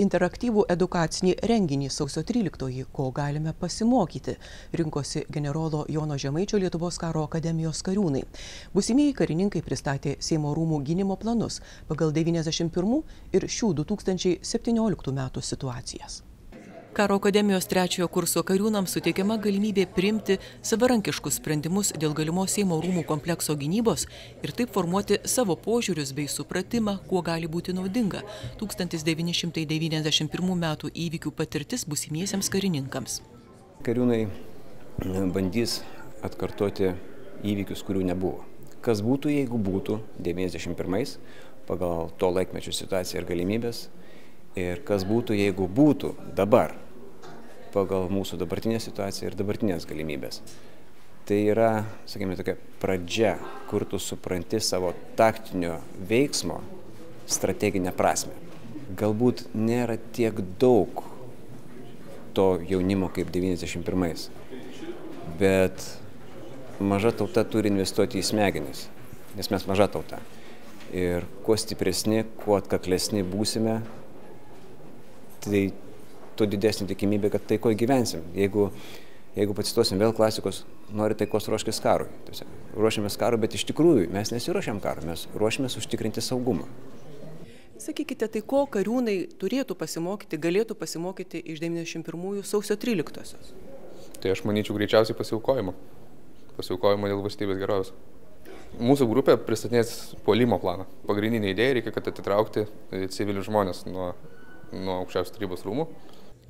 interaktyvų edukacinį renginį sausio 13-oji, ko galime pasimokyti, rinkosi generolo Jono Žemaičio Lietuvos karo akademijos kariūnai. Būsimieji karininkai pristatė Seimo rūmų gynimo planus pagal 91 ir šių 2017 metų situacijas. Karo akademijos 3-ojo kurso kariūnams suteikiama galimybė priimti savarankiškus sprendimus dėl galimos Seimo rūmų komplekso gynybos ir taip formuoti savo požiūrius bei supratimą, kuo gali būti naudinga 1991 metų įvykių patirtis būsimiesiems karininkams. Kariūnai bandys atkartoti įvykius, kurių nebuvo. Kas būtų, jeigu būtų 91 pagal to laikmečio situaciją ir galimybės, ir kas būtų, jeigu būtų dabar pagal mūsų dabartinę situaciją ir dabartinės galimybės. Tai yra, sakykime, tokia pradžia, kur tu supranti savo taktinio veiksmo strateginę prasme. Galbūt nėra tiek daug to jaunimo kaip 91, bet maža tauta turi investuoti į smegenis, nes mes maža tauta. Ir kuo stipresni, kuo atkaklesni būsime, tai tuo didesnė tikimybė, kad taikoje gyvensim. Jeigu pacituosim vėl klasikos, nori taikos ruoškis karui. Ruošiamės karui, bet iš tikrųjų mes nesiruošiam karui, mes ruošiamės užtikrinti saugumą. Sakykite, tai ko kariūnai turėtų pasimokyti, galėtų pasimokyti iš 91 sausio 13-osios? Tai aš manyčiau greičiausiai pasiaukojimo. Pasiaukojimo dėl valstybės gerovės. Mūsų grupė pristatinės puolimo planą. Pagrindinė idėja reikia, kad atitraukti civilius žmonės nuo aukščiausios tarybos rūmų.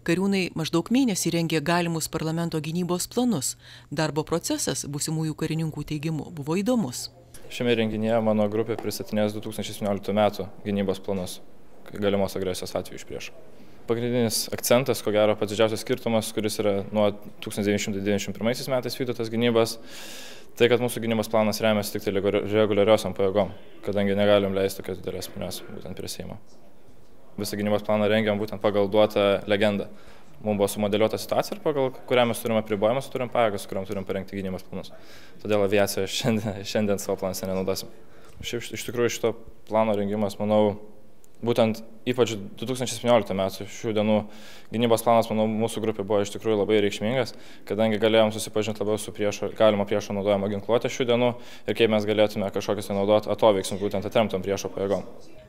Kariūnai maždaug mėnesį rengė galimus parlamento gynybos planus. Darbo procesas būsimųjų karininkų teigimu buvo įdomus. Šiame renginyje mano grupė pristatinės 2017 metų gynybos planus, galimos agresijos atveju iš priešo. Pagrindinis akcentas, ko gero pats didžiausias skirtumas, kuris yra nuo 1991 metais vykdytas gynybos, tai kad mūsų gynybos planas remiasi tik tai reguliariosiom pajėgom, kadangi negalim leisti tokios didelės minios būtent prie Seimo. Visą gynybos planą rengiam būtent pagal duotą legendą. Mums buvo sumodeliuota situacija, pagal kurią mes turime apribojimus, turim pajėgas, kuriam turim parengti gynybos planus. Todėl aviaciją šiandien savo planuose nenaudosim. Šiaip iš tikrųjų šito plano rengimas, manau, būtent ypač 2017 metų šių dienų gynybos planas, manau, mūsų grupė buvo iš tikrųjų labai reikšmingas, kadangi galėjom susipažinti labiau su galimo priešo naudojimo ginkluotė šių dienų ir kaip mes galėtume kažkokius naudoti atoveiksmus būtent atremtom priešo pajėgom.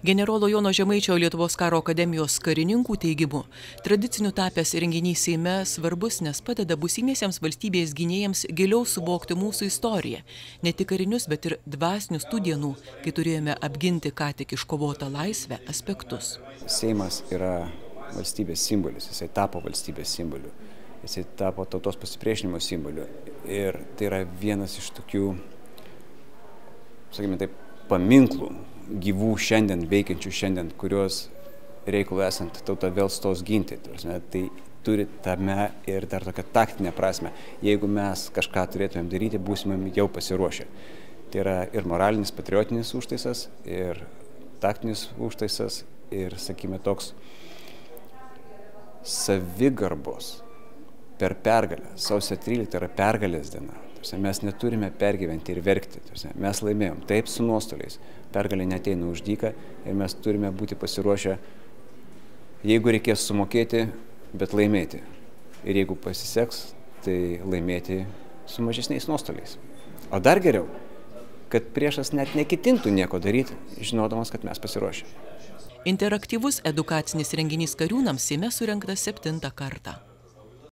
Generolo Jono Žemaičio Lietuvos karo akademijos karininkų teigimu, tradiciniu tapęs renginys Seime svarbus, nes padeda būsimiesiems valstybės gynėjams giliau suvokti mūsų istoriją, ne tik karinius, bet ir dvasinius tų dienų, kai turėjome apginti ką tik iškovotą laisvę aspektus. Seimas yra valstybės simbolis, jisai tapo valstybės simboliu, jisai tapo tautos pasipriešinimo simboliu ir tai yra vienas iš tokių, sakykime taip, paminklų gyvų šiandien, veikiančių šiandien, kurios reikalų esant tauta vėl stos ginti. Tai turi tame ir dar tokią taktinę prasme. Jeigu mes kažką turėtumėm daryti, būsimėm jau pasiruošę. Tai yra ir moralinis, patriotinis užtaisas, ir taktinis užtaisas, ir, sakykime, toks savigarbos per pergalę. Sausio 13 yra pergalės diena. Mes neturime pergyventi ir verkti. Mes laimėjom. Taip, su nuostoliais. Pergalė neateina už dyką ir mes turime būti pasiruošę, jeigu reikės sumokėti, bet laimėti. Ir jeigu pasiseks, tai laimėti su mažesniais nuostoliais. O dar geriau, kad priešas net neketintų nieko daryti, žinodamas, kad mes pasiruošę. Interaktyvus edukacinis renginys kariūnams Seime surengtas 7. kartą.